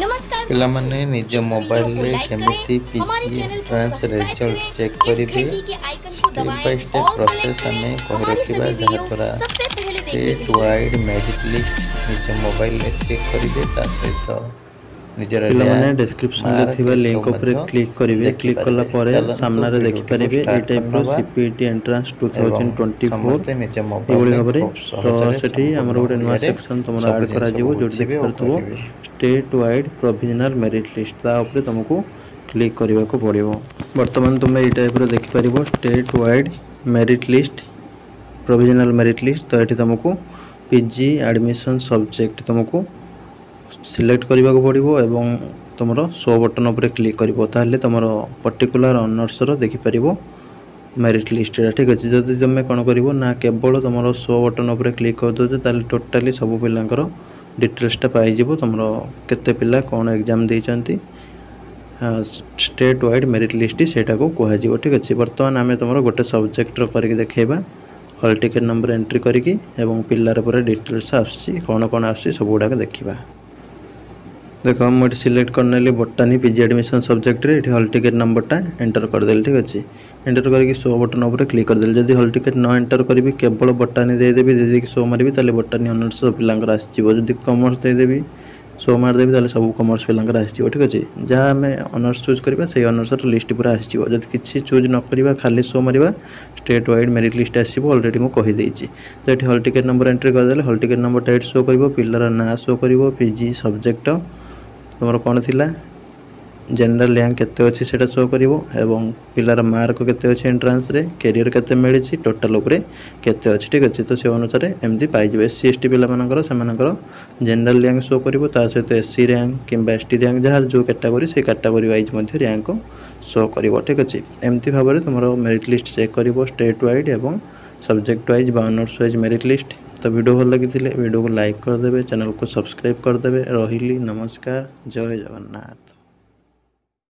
नमस्कार ପିଲାମାନେ, दोस्तों, ନିଜ इस वीडियो को ମୋବାଇଲରେ लाइक କେମିତି करें, हमारे ପିଜି चैनल को ଏଣ୍ଟ୍ରାନ୍ସ सब्सक्राइब ରେଜଲ୍ଟ करें, ଚେକ୍ इस କରିବେ, घंटी के आइकन को ଷ୍ଟେପ୍ दबाएं, by step all select process करें ଆମେ କହି हमारी ରଖିବା, सभी वीडियो ଯାହାଦ୍ୱାରା सबसे पहले देखने ଷ୍ଟେଟ୍ के लिए। ୱାଇଡ଼୍ ମେରିଟ୍ ଲିଷ୍ଟ ନିଜ ମୋବାଇଲରେ ଚେକ୍ କରିବେ, ତା ସହିତ ନିଜର ପିଲାମାନେ, ର୍ୟାଙ୍କ, ଡେସ୍କ୍ରିପସନ୍ରେ ମାର୍କ ଥିବା ଏସବୁ ଲିଙ୍କ ଉପରେ ମଧ୍ୟ କ୍ଲିକ୍ କରିବେ। କ୍ଲିକ୍ କଲା ଦେଖିପାରିବେ। ପରେ ଚାଲନ୍ତୁ, ସାମ୍ନାରେ ଭିଡ଼ିଓଟିକୁ ଦେଖିପାରିବେ ଏଇ ଷ୍ଟାର୍ଟ ଟାଇପ୍ର କରିନେବା CPET entrance two ଏବଂ ଥାଉଜେଣ୍ଡ 24 ସମସ୍ତେ ନିଜ ଏଇଭଳି ମୋବାଇଲରେ ଭାବରେ। ଖୁବ୍ ତ ସହଜରେ ସେଠି ଆମର ସମ୍ପୂର୍ଣ୍ଣ ଗୋଟେ ନୂଆ ଓଡ଼ିଆରେ ସେକ୍ସନ୍ ତୁମର ସବୁ ଆଡ଼୍ ଜିନିଷକୁ କରାଯିବ, ଯେଉଁଠି ବୁଝିବେ ଓ ଦେଖିପାରୁଥିବ କରିବେ। State wide provisional merit list, ତା ଉପରେ ତୁମକୁ କ୍ଲିକ୍ କରିବାକୁ ପଡ଼ିବ। ବର୍ତ୍ତମାନ ତୁମେ ଏଇ ଟାଇପ୍ର ଦେଖିପାରିବ state wide merit list, provisional merit list. ତ ଏଠି ତୁମକୁ ପିଜି ଆଡ଼ମିସନ୍ ସବଜେକ୍ଟ ତୁମକୁ ସିଲେକ୍ଟ କରିବାକୁ ପଡ଼ିବ ଏବଂ ତୁମର ଶୋ ବଟନ୍ ଉପରେ କ୍ଲିକ୍ କରିବ, ତାହେଲେ ତୁମର ପର୍ଟିକୁଲାର ଅନର୍ସର ଦେଖିପାରିବ ମେରିଟ୍ ଲିଷ୍ଟଟା। ଠିକ୍ ଅଛି। ଯଦି ତୁମେ କ'ଣ କରିବ ନା କେବଳ ତୁମର ଶୋ ବଟନ୍ ଉପରେ କ୍ଲିକ୍ କରିଦେଉଛ, ତାହେଲେ ଟୋଟାଲି ସବୁ ପିଲାଙ୍କର ଡିଟେଲ୍ସଟା ପାଇଯିବ, ତୁମର କେତେ ପିଲା କ'ଣ ଏକ୍ଜାମ୍ ଦେଇଛନ୍ତି, ଷ୍ଟେଟ୍ ୱାଇଡ଼୍ ମେରିଟ୍ ଲିଷ୍ଟ ସେଇଟାକୁ କୁହାଯିବ। ଠିକ୍ ଅଛି। ବର୍ତ୍ତମାନ ଆମେ ତୁମର ଗୋଟେ ସବଜେକ୍ଟର କରିକି ଦେଖେଇବା, ହଲ୍ ଟିକେଟ୍ ନମ୍ବର ଏଣ୍ଟ୍ରି କରିକି ଏବଂ ପିଲାର ପୁରା ଡିଟେଲ୍ସ ଆସୁଛି, କ'ଣ କ'ଣ ଆସୁଛି, ସବୁ ଗୁଡ଼ାକ ଦେଖିବା। ଦେଖ, ମୁଁ ଏଠି ସିଲେକ୍ଟ କରିନେଲି ବୋଟାନି ପିଜି ଆଡ଼ମିସନ୍ ସବଜେକ୍ଟରେ। ଏଠି ହଲ୍ ଟିକେଟ୍ ନମ୍ବରଟା ଏଣ୍ଟର କରିଦେଲି। ଠିକ୍ ଅଛି। ଏଣ୍ଟର କରିକି ଶୋ ବଟନ୍ ଉପରେ କ୍ଲିକ୍ କରିଦେଲି। ଯଦି ହଲ୍ ଟିକେଟ୍ ନ ଏଣ୍ଟର କରିବି, କେବଳ ବୋଟାନି ଦେଇଦେବି, ଦେଇଦେଇକି ଶୋ ମାରିବି, ତାହେଲେ ବୋଟାନି ଅନର୍ସ ପିଲାଙ୍କର ଆସିଯିବ। ଯଦି କମର୍ସ ଦେଇଦେବି, ଶୋ ମାରିଦେବି, ତାହେଲେ ସବୁ କମର୍ସ ପିଲାଙ୍କର ଆସିଯିବ। ଠିକ୍ ଅଛି। ଯାହା ଆମେ ଅନର୍ସ ଚୁଜ୍ କରିବା, ସେଇ ଅନର୍ସର ଲିଷ୍ଟ ପୁରା ଆସିଯିବ। ଯଦି କିଛି ଚୁଜ୍ ନ କରିବା, ଖାଲି ଶୋ ମାରିବା, ଷ୍ଟେଟ୍ ୱାଇଡ଼୍ ମେରିଟ୍ ଲିଷ୍ଟ ଆସିବ। ଅଲରେଡ଼ି ମୁଁ କହିଦେଇଛି। ତ ଏଠି ହଲ୍ ଟିକେଟ୍ ନମ୍ବର ଏଣ୍ଟ୍ରି କରିଦେଲେ ହଲ୍ ଟିକେଟ୍ ନମ୍ବରଟା ଏଠି ଶୋ କରିବ, ପିଲାର ନାଁ ଶୋ କରିବ, ପିଜି ସବଜେକ୍ଟ ତୁମର କ'ଣ ଥିଲା, ଜେନେରାଲ ର୍ୟାଙ୍କ କେତେ ଅଛି ସେଇଟା ଶୋ କରିବ ଏବଂ ପିଲାର ମାର୍କ କେତେ ଅଛି ଏଣ୍ଟ୍ରାନ୍ସରେ, କ୍ୟାରିୟର କେତେ ମିଳିଛି, ଟୋଟାଲ୍ ଉପରେ କେତେ ଅଛି। ଠିକ୍ ଅଛି। ତ ସେ ଅନୁସାରେ ଏମିତି ପାଇଯିବେ। ଏସ୍ ସି, ଏସ୍ ଟି ପିଲାମାନଙ୍କର, ସେମାନଙ୍କର ଜେନେରାଲ ର୍ୟାଙ୍କ ଶୋ କରିବ, ତା ସହିତ ଏସ୍ ସି ର୍ୟାଙ୍କ କିମ୍ବା ଏସ୍ ଟି ର୍ୟାଙ୍କ, ଯାହାର ଯେଉଁ କ୍ୟାଟାଗୋରୀ, ସେଇ କ୍ୟାଟାଗୋରୀ ୱାଇଜ୍ ମଧ୍ୟ ର୍ୟାଙ୍କ ଶୋ କରିବ। ଠିକ୍ ଅଛି। ଏମିତି ଭାବରେ ତୁମର ମେରିଟ୍ ଲିଷ୍ଟ ଚେକ୍ କରିବ, ଷ୍ଟେଟ୍ ୱାଇଡ଼୍ ଏବଂ ସବଜେକ୍ଟ ୱାଇଜ୍ ବା ଅନର୍ସ ୱାଇଜ୍ ମେରିଟ୍ ଲିଷ୍ଟ। ତ ଭିଡ଼ିଓ ଭଲ ଲାଗିଥିଲେ ଭିଡ଼ିଓକୁ ଲାଇକ୍ କରିଦେବେ, ଚ୍ୟାନେଲକୁ ସବସ୍କ୍ରାଇବ୍ କରିଦେବେ। ରହିଲି, ନମସ୍କାର, ଜୟ ଜଗନ୍ନାଥ।